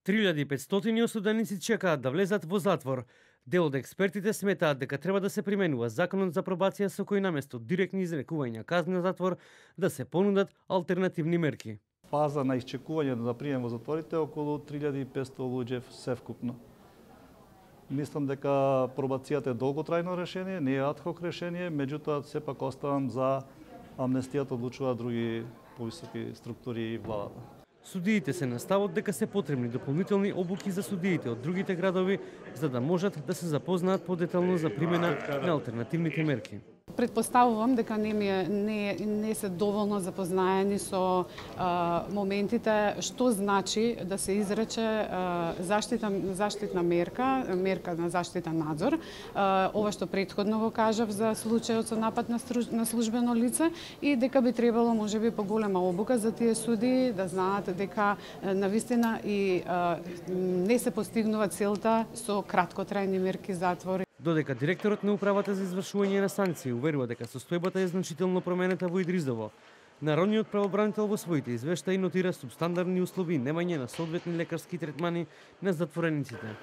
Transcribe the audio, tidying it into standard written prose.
3500 осуденици чекаат да влезат во затвор. Дел од експертите сметаат дека треба да се применува законот за пробација со кој наместо директни изрекувања казни на затвор да се понудат алтернативни мерки. Фаза на исчекување за прием во затворите околу 3500 луѓе севкупно. Мислам дека пробацијата е долготрајно решение, не е адхок решение, меѓутоа сепак оставам за амнестијата одлучуваат други повисоки структури и владата. Судиите се на ставот дека се потребни дополнителни обуки за судиите од другите градови за да можат да се запознаат подетално за примена на алтернативните мерки. Предпоставувам дека не се доволно запознаени со моментите што значи да се изрече заштитна мерка на заштитен надзор. Ова што претходно го кажав за случајот со напад на службено лице и дека би требало можеби поголема обука за тие суди да знаат дека навистина и не се постигнува целта со краткотрајни мерки затвори. Додека директорот на управата за извршување на санкции уверува дека состојбата е значително променета во Идризово, народниот правобранител во своите извештаи нотира субстандарни услови и немање на соодветни лекарски третмани на затворениците.